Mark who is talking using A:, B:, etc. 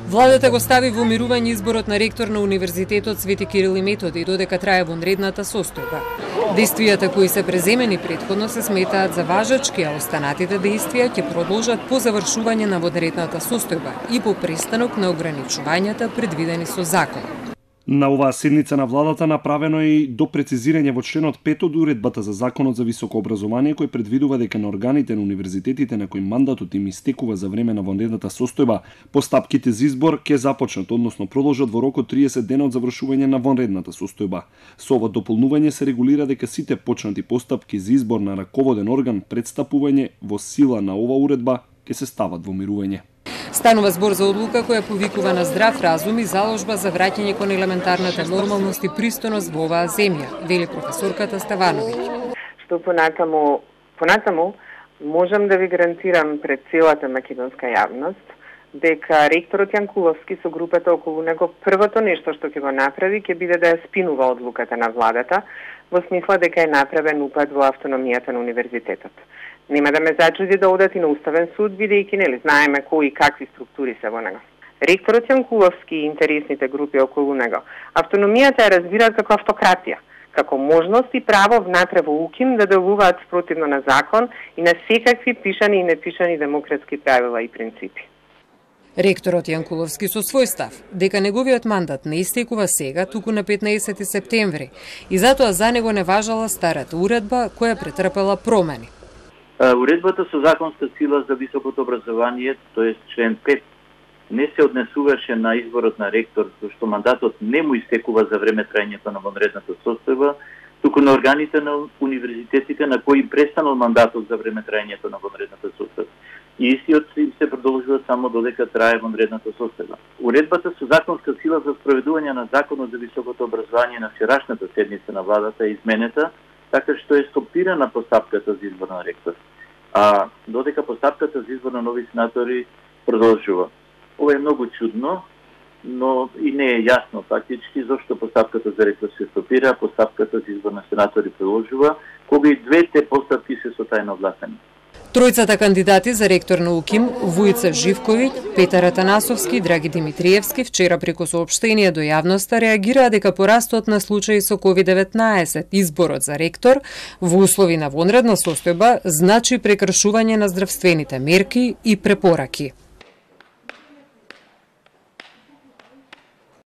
A: Владата го стави во мирување изборот на ректор на Универзитетот Свети Кирил и Методи додека трае вонредната состојба. Действијата кои се преземени претходно се сметаат за важачки, а останатите действија ќе продолжат по завршување на вонредната состојба и по престанок на ограничувањата предвидени со закон.
B: На оваа седница на владата направено и допрецизирање во членот 5 од уредбата за Законот за високо образование кој предвидува дека на органите на универзитетите на кои мандатот им истекува за време на вонредната состојба, постапките за избор ќе започнат, односно продолжат во рок од 30 дена од завршување на вонредната состојба. Со ова дополнување се регулира дека сите почнати постапки за избор на раководен орган пред стапување во сила на ова уредба ќе се стават во мирување.
A: Станува збор за одлука која повикува на здрав разум и заложба за враќање кон елементарната нормалност и пристојност во оваа земја, вели професорката Ставановиќ.
C: Што понатаму можам да ви гарантирам пред целата македонска јавност дека ректорот Јанкуловски со групата околу него првото нешто што ќе го направи ќе биде да ја спинува одлуката на владата во смисла дека е направен упад во автономијата на универзитетот. Нема да ме зачуди да одат и на Уставен суд, бидејќи знаеме кои и какви структури се во него. Ректорот Јанкуловски и интересните групи околу него автономијата ја разбираат како автократија, како можност и право внатре во УКИМ да делуваат спротивно на закон и на секакви пишани и непишани демократски правила и принципи.
A: Ректорот Јанкуловски со свој став дека неговиот мандат не истекува сега, туку на 15 септември, и затоа за него не важала старата уредба која претрпела промени.
D: Уредбата со законска сила за високото образование, т.е. член 5, не се однесуваше на изборот на ректор, зашто мандатот не му истекува за време трајањето на вонредната состојба, туку на органите на универзитетите на кои престанал мандатот за време трајањето на вонредната состојба. И истиот се продолжува само додека трае вонредната состојба. Уредбата со законска сила за спроведување на законот за високото образование на вчерашната седница на владата е изменета, така што е стопирана постапката за избор на ректор, а додека постапката за избор на нови сенатори продолжува. Ова е многу чудно, но и не е јасно фактички зошто постапката за ректор се стопира, а постапката за избор на сенатори продолжува, кога и двете постапки се со тајно гласање.
A: Тројцата кандидати за ректор на УКИМ, Вујца Живковиќ, Петар Атанасовски и Драги Димитриевски, вчера преку соопштение до јавноста реагираа дека порастот на случаи со COVID-19, изборот за ректор, во услови на вонредна состојба, значи прекршување на здравствените мерки и препораки.